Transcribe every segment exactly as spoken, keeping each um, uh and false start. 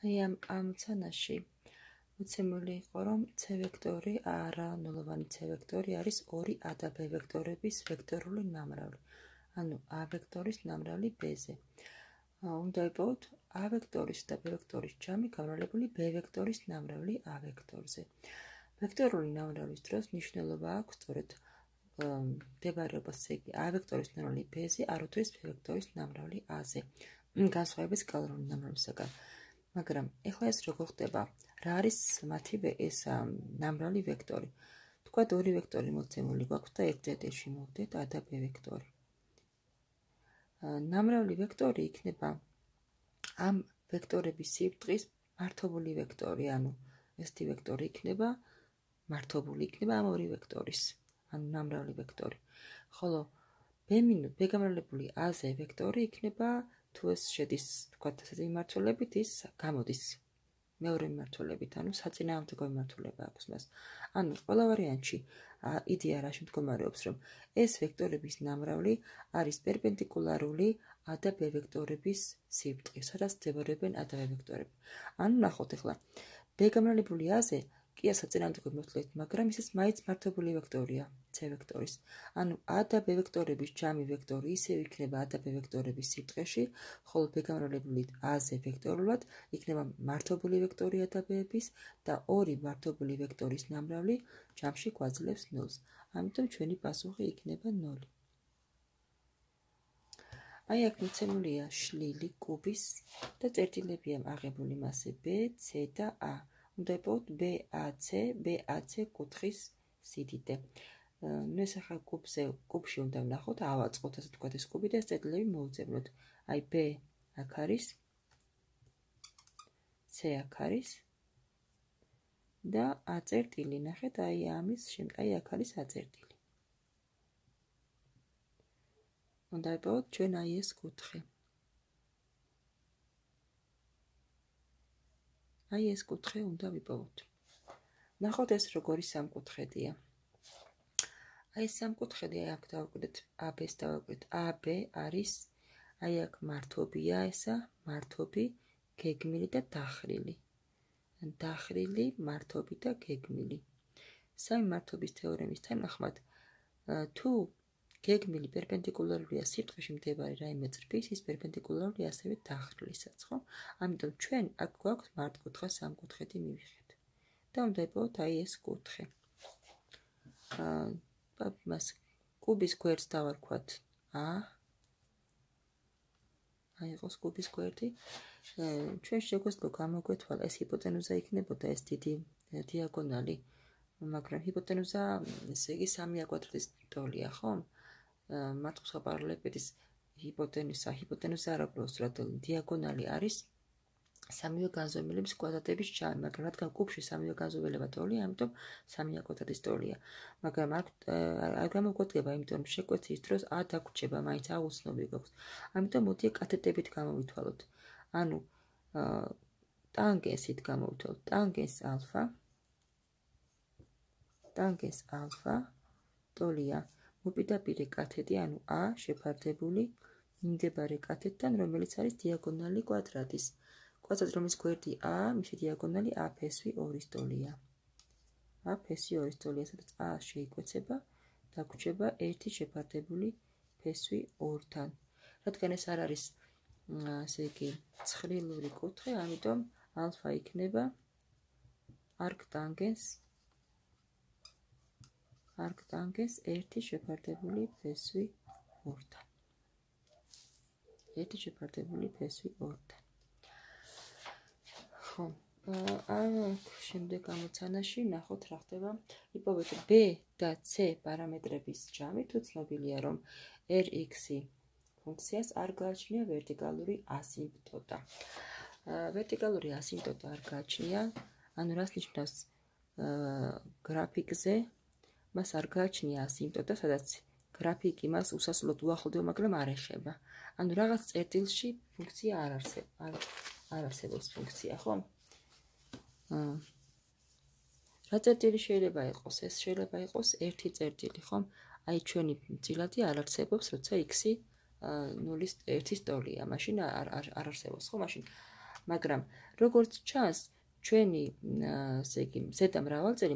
აი ამ ამოცანაში მოცემული იყო, რომ c ვექტორი არა ნულოვანი c ვექტორი არის ორი a და b ვექტორების ვექტორული ნამრავლი. ანუ a ვექტორის ნამრავლი b-ზე. უნდა იპოვოთ a ვექტორის და b ვექტორის ჯამი გამრავლებული b ვექტორის ნამრავლი a ვექტორზე. ვექტორული ნამრავლის დროს მნიშვნელობა აქვს სწორედ მდებარეობას a ვექტორის ნამრავლი b-ზე, არ უთურის b ვექტორის ნამრავლი a-ზე. განსხვავებით სკალარული ნამრავლისაგან. მაგრამ ეხლა ეს როგორ ხდება? რა არის მათი ეს ნამრავლი ვექტორი? თქვათ ორი ვექტორი მოცემული გვაქვს და ერთ წერტილში მოვდეთ a და b ვექტორი. ნამრავლი ვექტორი იქნება ამ ვექტორების სიბრტყის მართობული ვექტორი, ანუ ესეთი ვექტორი იქნება მართობული იქნება ამ ორი ვექტორის, ანუ ნამრავლი ვექტორი. ხოლო b- b გამრავლებული a-ზე ვექტორი იქნება თუ ეს შედის, თქვათ ასეთი მიმართულებით, ის გამოდის მეორე მიმართულებით, ანუ საწინააღმდეგო მიმართულება აქვს მას. ანუ ყველა ვარიანტში იდეა რაში მდგომარეობს, რომ ეს ვექტორების ნამრავლი არის პერპენდიკულარული a და b ვექტორების სიბრტყეს, სადაც მდებარეობენ a და b ვექტორები. ანუ ნახოთ ახლა, b გამრავლებული a-ზე კი საწინააღმდეგო მიმართულებით, მაგრამ ისიც მაინც მართობული ვექტორია c ვექტორის. ანუ a და b ვექტორების ჯამი ვექტორი ისევ იქნება a და b ვექტორების სიბრტყეში, ხოლო b გამრავლებული a-ზე ვექტორულად იქნება მართობული ვექტორი a და b-ების და ორი მართობული ვექტორის ნამრავლი ჯამში გვაძლევს ნულს. ამიტომ ჩვენი პასუხი იქნება ნული. აი აქ მოცემულია შლილი კუბის და წერტილებია აღებული მასზე b, c და a. უნდა იპოვოთ b-ac, b-ac კუთხის სიდიდე. ნუ ეს ახლა კუბზე, კუბში უნდა ვნახოთ, ავაწყოთ ასე თქვათ ეს კუბი და ეს წერტილები მოვუძებნოთ. აი b აქ არის, c აქ არის და a წერტილი, ნახეთ, აი ამის შემდეგ, აი აქ არის a წერტილი. უნდა იპოვოთ ჩვენ აი ეს კუთხე. აი ეს კუთხე უნდა ვიპოვოთ. ნახოთ ეს როგორი სამკუთხედია. აი ეს სამკუთხედი, აი აქ დავაკვირდეთ a-ს დავაკვირდეთ. a-b არის, აი აქ მართობია ესა, მართობი, გეგმილი და დახრილი. დახრილი, მართობი და გეგმილი. სამი მართობის თეორემის თანახმად, თუ გეგმილი პერპენდიკულარულია სიბრტყეში მდებარე რაიმე წრფის, ის პერპენდიკულარულია ასევე დახრილისაც, ხო? ამიტომ ჩვენ აქ გვაქვს მართკუთხა სამკუთხედი მივიღეთ. და უნდა იპოვოთ აი ეს კუთხე. აა მას კუბის გვერდს დავარქვათ a. აი იყოს კუბის გვერდი. ჩვენ შეგვეძლო გამოგვეთვალა ეს ჰიპოტენუზა იქნებოდა ეს დიდი დიაგონალი, მაგრამ ჰიპოტენუზა ესე იგი სამი კვადრატის ტოლია, ხო? მართკუთხა პარალელეპედის ჰიპოტენუზა, ჰიპოტენუზა არა უბრალოდ დიაგონალი არის სამივე განზომილების კვადრატების ჯამი, მაგრამ რადგან კუბში სამივე განზომილება ტოლია, ამიტომ სამი კვადრატის ტოლია. მაგრამ არ გამოგვადგება, იმიტომ რომ შეკვეცის დროს a დაგვრჩება, მაინც a უცნობი გვაქვს. ამიტომ მოდი კათეტებით გამოვითვალოთ. ანუ ტანგენსით გამოვითვალოთ. ტანგენს ალფა, ტანგენს ალფა ტოლია მოპირდაპირე კათეტი, ანუ a შეფარდებული მიმდებარე კათეტთან, რომელიც არის დიაგონალი კვადრატის. კვადრატი, რომლის გვერდი a, მისი დიაგონალი a ფესვი ორის ტოლია. a ფესვი ორის ტოლია, სადაც a შეიკვეცება, დაგვრჩება ერთი შეფარდებული ფესვი ორთან. რადგან ეს არ არის, ასე იგი, ცხრილური კუთხე, ამიტომ ალფა იქნება არქტანგენს არქტანგენს ერთი შეფარდებული ფესვი ორთან. ერთი შეფარდებული ფესვი ორთან. ხო, ამ შემდეგ ამოცანაში ნახოთ რა ხდება. იპოვეთ b და c პარამეტრების ჯამი, თუ ცნობილია, რომ rx-ი ფუნქციას არ გააჩნია ვერტიკალური ასიმპტოტა. ვერტიკალური ასიმპტოტა არ გააჩნია, ანუ რას ნიშნავს გრაფიკზე, მას არ გააჩნია ასიმპტოტა, სადაც გრაფიკი მას უსასრულოდ უახლოვდება, მაგრამ არ ეხება. ანუ რაღაც წერტილში ფუნქცია არ არსებობს. არ არსებობს ფუნქცია, ხო? აა რა წერტილი შეიძლება იყოს? ეს შეიძლება იყოს ერთი წერტილი, ხო? აი ჩვენი წილადი არ არსებობს, როცა x-ი ნულის ერთის ტოლია, მაშინ არ არ არსებობს, ხო? მაშინ მაგრამ როგორც ჩანს, ჩვენი ესე იგი ზედა მრავალწელი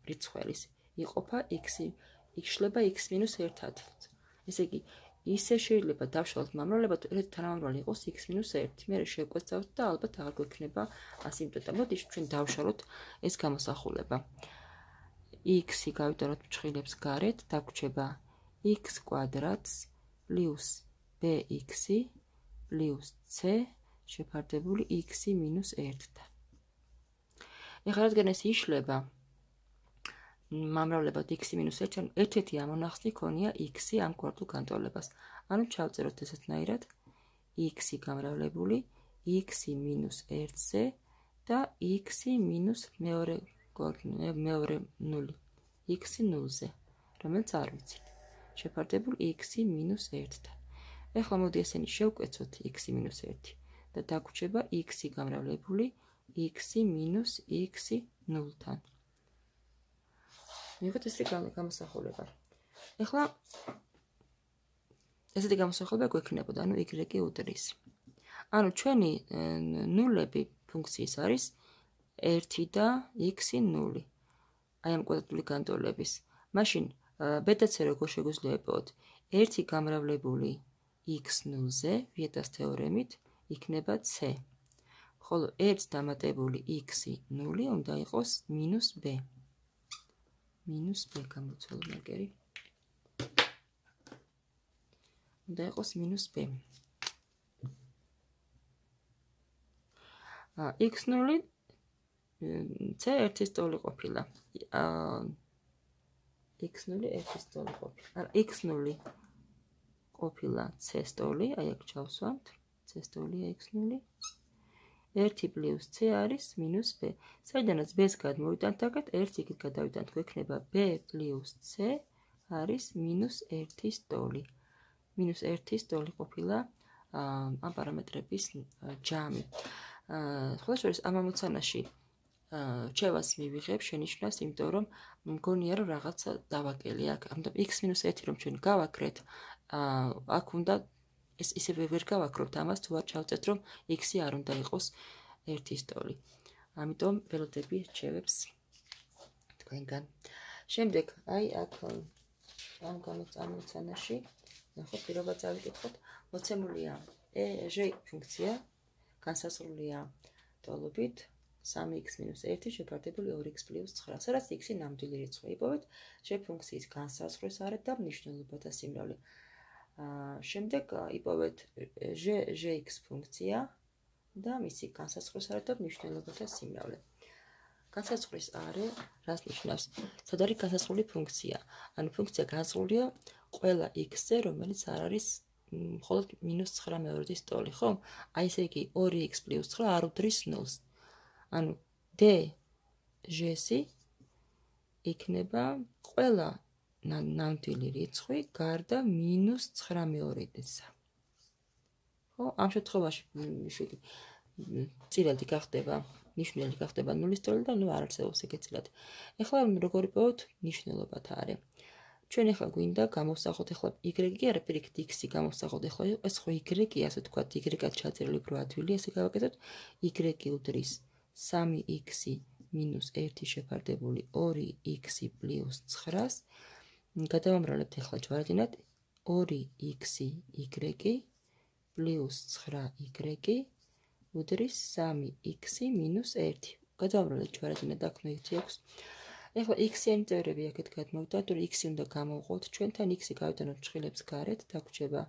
რიცხველის იყოფა x-ი, იშლება x მინუს ერთად. ესე იგი, ისე შეიძლება დავშალოთ მომავლებად, ერთ თანამამრავლე იყოს x მინუს ერთი. მე შევკვეცავთ და ალბათ აღარ გვექნება ასიმპტოტა. მოდით ჩვენ დავშალოთ ეს გამოსახულება. x-ი გავიტანოთ მჩხილებს გარეთ, დაგვრჩება x კვადრატს პლუს bx-ი პლუს c შეფარდებული x-ი მინუს ერთთან. ეხლა რადგან ეს იშლება მომავლებად x-ი მინუს ერთი, ერთ-ერთი ამონახსნი ქონია x-ი ამ კვარტულ განტოლებას. ანუ ჩავწეროთ ესეთნაირად x-ი გამრავლებული x-ი მინუს ერთზე და x-ი მინუს მეორე მეორე ნული x-ი ნულზე, რომელიც არ ვიცით. შეფარდებულ x-ი მინუს ერთთან. ეხლა მოდი ესენი შევკვეცოთ x-ი მინუს ერთი და დაგვრჩება x-ი გამრავლებული x-ი მინუს x-ი ნულთან. მივიღეთ ესეთი გამოსახულება. ეხლა ესეთი გამოსახულება გვექნებოდა, ანუ y უდრის. ანუ ჩვენი ნულები ფუნქციის არის ერთი და x-ი ნული. აი ამ კვადრატული განტოლების. მაშინ ბეტაც როგორ შეგვიძლია იპოვოთ? ერთი გამრავლებული x ნულზე ვიეტას თეორემით იქნება c. ხოლო ერთს დამატებული x-ი ნული უნდა იყოს მინუს b. მინუს b გამოცვალ მარკერი. უნდა იყოს მინუს b. x ნული c ერთის ტოლი ყოფილა. x ნული ერთის ტოლი ყოფილა. არა, x ნული ყოფილა c-ის ტოლი, აი აქ ჩავსვამთ. c-ის ტოლია x ნული. ერთი პლუს c არის მინუს b. საიდანაც b-ს გადმოვიტანთ აქეთ, ერთს იქით გადავიტანთ, გვექნება b პლუს c არის მინუს ერთის ტოლი. მინუს ერთის ტოლი ყოფილა ამ პარამეტრების ჯამი. სხვა შორის ამ ამოცანაში რჩევას მივიღებ შენიშვნას, იმიტომ რომ მგონია რომ რაღაცა დავაკელი აქ. ამიტომ x მინუს ერთი რომ ჩვენ გავაკრეთ, აქ უნდა ეს ისევე ვერ გავაკრობთ ამას, თუ არ ჩავწერთ რომ x-ი არ უნდა იყოს ერთის ტოლი. ამიტომ ველოდები რჩევებს თქვენგან. შემდეგ, აი აქ ამ გამოცანაში, ნახოთ, პირობა წავიკითხოთ, მოცემულია ჟ ფუნქცია, განსაზღვრულია ტოლობით სამი x მინუს ერთი შეფარდებული ორი x პლუს ცხრა, სადაც x-ი ნამდვილი რიცხვი. იპოვეთ ჟ ფუნქციის განსაზღვრის არეთ და მნიშვნელობათა სიმრავლე. შემდეგ იპოვეთ ჟ-x ფუნქცია და მისი განსაზღვრის არეთ და მნიშვნელობათა სიმრავლე. განსაზღვრის არე რას ნიშნავს? სად არის განსაზღვრული ფუნქცია? ანუ ფუნქცია განსაზღვრულია ყველა x-ზე, რომელიც არ არის მხოლოდ მინუს ცხრა მეორედის ტოლი, ხო? აი ესე იგი ორი x პლუს ცხრა არ უდრის ნულს. ანუ d ჟ-ი იქნება ყველა ნამდვილი რიცხვი გარდა მინუს ცხრა მეორედისა. ხო, ამ შემთხვევაში წილადი გახდება, ნიშნელი გახდება ნულის ტოლი და ნუ არ არსებობს ეგეთ წილადი. ეხლა როგორ იპოვოთ მნიშვნელობათა არე? ჩვენ ეხლა გვინდა გამოვსახოთ ეხლა y-ი არა პირიქით x-ი გამოვსახოთ ეხლა ეს ხო y-ი, ასე ვთქვათ, y-ად ჩაწერილი უფრო ადვილი, ესე გავაკეთოთ y უდრის სამი x-ი მინუს ერთი შეფარდებული ორი x-ი პლუს ცხრას. გადავამრავლებთ ეხლა ჯვარდინად ორი x-ი y პლუს ცხრა y უდრის სამი x-ი მინუს ერთი. გადავამრავლებთ ჯვარდინად აქ ერთი აქვს. ეხლა x-იანი წევრები აქეთ გადმოვიტანთ, თუ x-ი უნდა გამოვყოთ, ჩვენთან x-ი გავიტანოთ მჩხილებს გარეთ, დაგვრჩება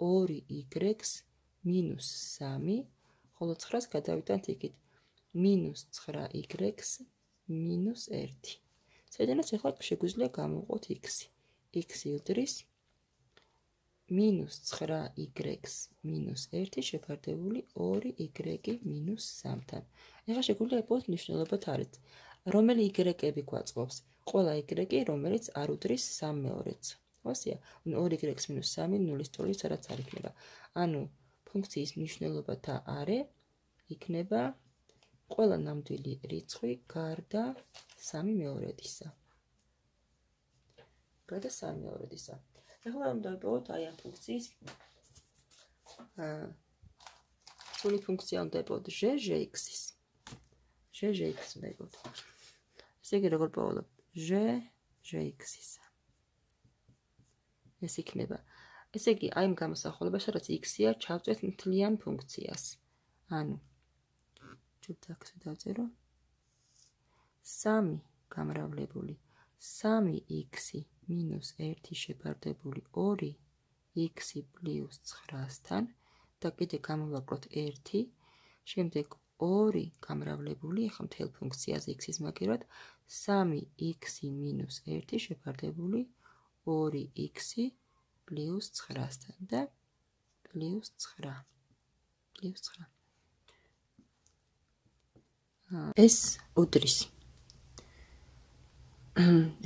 ორი y-ს მინუს სამი, ხოლო ცხრას გადავიტანთ იქით მინუს ცხრა y-ს მინუს ერთი. საიდანაც ეხლა შეგვიძლია გამოვყოთ x-ი. x-ი უდრის მინუს ცხრა y-ს მინუს ერთი შეფარდებული ორი y მინუს სამთან. ეხლა შეგვიძლია იპოვოთ მნიშვნელობათა არეთ. რომელი y-ები გვაწყობს? ყველა y, რომელიც არ უდრის სამ მეორედს. ხოსია? ორი y მინუს სამი ნულის ტოლი სადაც არ იქნება. ანუ ფუნქციის მნიშვნელობათა არე იქნება ყველა ნამდვილი რიცხვი გარდა სამი მეორედისა. გარდა სამი მეორედისა. ეხლა უნდა ვიპოვოთ აი ამ ფუნქციის სრული ფუნქცია უნდა იპოვოთ ჟ ჟ-ის. ჟ ჟ-ის უნდა იპოვოთ. ესე იგი როგორ პოვალობ? ჟ ჟ-ის. ეს იქნება. ესე იგი, აი იმ გამოსახულებაში, რაც x-ია, ჩავწვეთ მთლიან ფუნქციას. ანუ ჯობთ აქ დავწერო. სამი გამრავლებული სამი x მინუს ერთი შეფარდებული ორი x პლუს ცხრასთან და კიდე გამოვაკლოთ ერთი, შემდეგ ორი გამრავლებული, ახლა მთელ ფუნქციაზე x-ის მაგერად სამი x მინუს ერთი შეფარდებული ორი x პლუს ცხრასთან და პლუს ცხრა. პლუს ცხრა. ეს უდრის.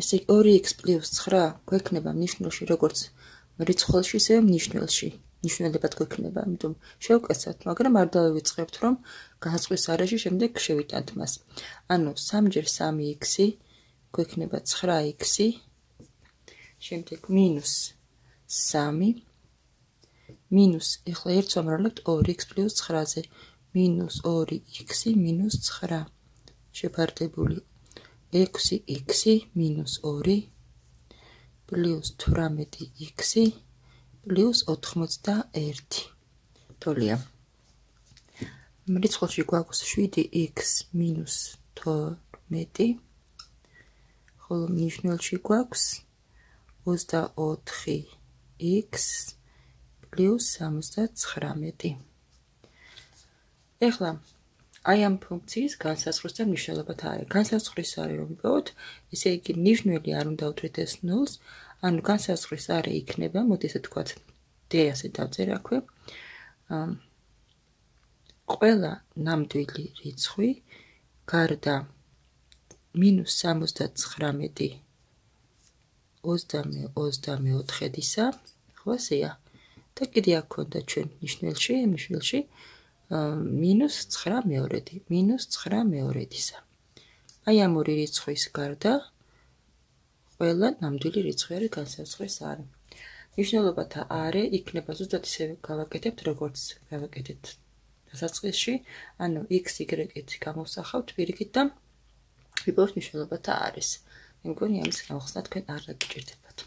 ესე იგი ორი x პლუს ცხრა გვექნება მნიშვნელში როგორც რიცხველში, ისე მნიშვნელში. ნიშნულებად გვექნება, ამიტომ შევკეცავთ, მაგრამ არ დავივიწყებთ, რომ განსხვავების არეში შემდეგ შევიტანთ მას. ანუ სამი ჯერ სამი x გვექნება ცხრა x, შემდეგ მინუს სამი მინუს, ეხლა ერთს ვამრავლებთ ორი x პლუს ცხრაზე, მინუს ორი x მინუს ცხრა შეფარდებული ექვსი x მინუს ორი პლუს თვრამეტი x პლუს ოთხმოცდაერთი. ტოლია. რიცხვში გვაქვს შვიდი x მინუს თორმეტი, ხოლო მნიშვნელში გვაქვს ოცდაოთხი x პლუს სამოცდაცხრამეტი. ეხლა აი ამ ფუნქციის განსაზღვრის და მნიშვნელობათა არის. განსაზღვრის არის რომ ვიპოვოთ, ესე იგი ნიშნული არ უნდა უთხრით ეს ნულს, ანუ განსაზღვრის არე იქნება, მოდი ესე თქვათ, d ასე დავწერე აქვე. ყველა ნამდვილი რიცხვი გარდა მინუს სამოცდაცხრამეტი ოცდამეოთხედისა, ხო ესეა. და კიდე აქ ქონდა ჩვენ ნიშნულში, ნიშნულში მინუს ცხრა მეორედი, მინუს ცხრა მეორედისა. აი ამ ორი რიცხვის გარდა ყველა ნამდვილი რიცხვი არის განსაზღვრის არე. მნიშვნელობათა არე იქნება ზუსტად ისევე გავაკეთებთ, როგორც გავაკეთეთ დასაწყისში, ანუ x, y-ით გამოვსახავთ პირიქით და ვიპოვოთ მნიშვნელობათა არეს. მე მგონი ამის გამოხსნა თქვენ არ დაგიჭირდებათ.